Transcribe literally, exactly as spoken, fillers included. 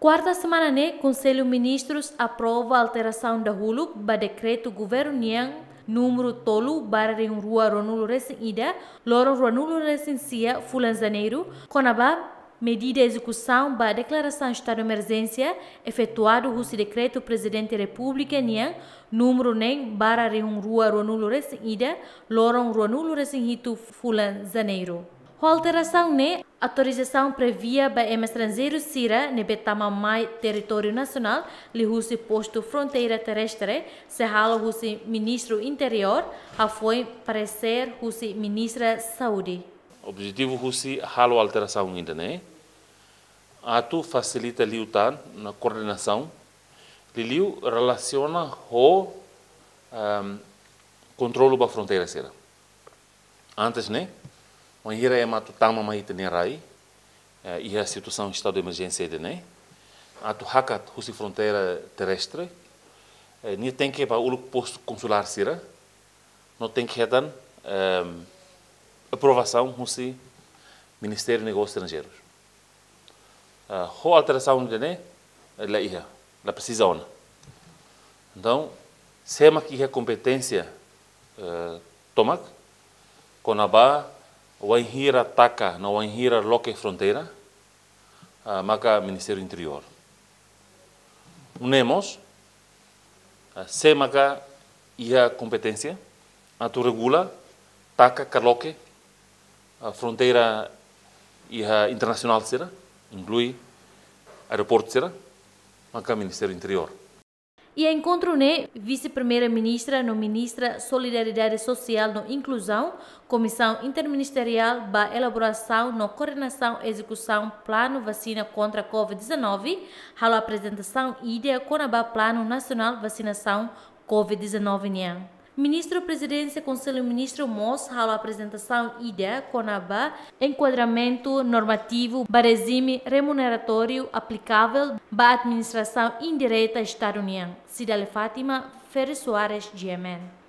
Kuarta semana ne'e, Konsellu Ministrus aprova alterasaun dahuluk ba dekretu governu nian númeru tolu barra rihun rua ruanulu resin ida, loron ruanulu resin sia fulan Janeiru, kona-ba medida ezekusaun ba deklarasaun estadu emerjénsia efetuadu husi dekretu Prezidente Repúblika nian númeru neen barra rihun rua ruanulu resin ida, loron ruanulu resin hitu fulan Janeiru. Ho alterasaun ne'e, autorizasaun previa ba ema estranjeiru sira ne'ebé tama mai territóriu nasionál liuhusi postu fronteira terrestre sei halo husi Ministru Interiór, hafoin paresér husi Ministra Saúde. Objetivu husi halo alterasaun ida-ne'e atu fasilita liután ona koordenasaun liuliu relasiona ho, ehm, kontrolu ba fronteira sira. Antes ne'e, wainhira ema atu tama mai ita-nia rai, eh, iha situasaun estadu de emerjénsia ida-ne'e, atu hakat husi fronteira terrestre, eh, nia tenke bá uluk postu konsulár sira, no tenke hetan, ehm, aprovasaun husi Ministériu Negósius Estranjeirus. Ah, ho alterasaun ida-ne'e, la iha, la presiza ona. Entaun, sé mak iha kompeténsia, eh, tomak, kona-ba wainhira taka no wainhira loke fronteira, ah, maka Ministériu Interiór. Nune'e mós, ah, sé maka iha kompeténsia atu regula taka ka loke, ah, fronteira iha internasionál sira, inklui aeroportu sira, maka Ministériu Interiór. Iha enkontru ne'e, Vise-Primeira-Ministra no Ministra Solidariedade Sosiál no Inkluzaun, Komisaun Interministeriál ba elaborasaun no koordenasaun ezekusaun planu vasina kontra covid dezanove, halo aprezentasaun ida kona-ba Planu Nasionál Vasinasaun covid dezanove nian. Ministru Prezidénsia Konsellu Ministru mós halo aprezentasaun ida kona-ba enkuadramentu normativu ba rejime remuneratóriu aplikavel ba administrasaun indireta Estadu nian. Cidália Fátima, Ferri Soares, G M N.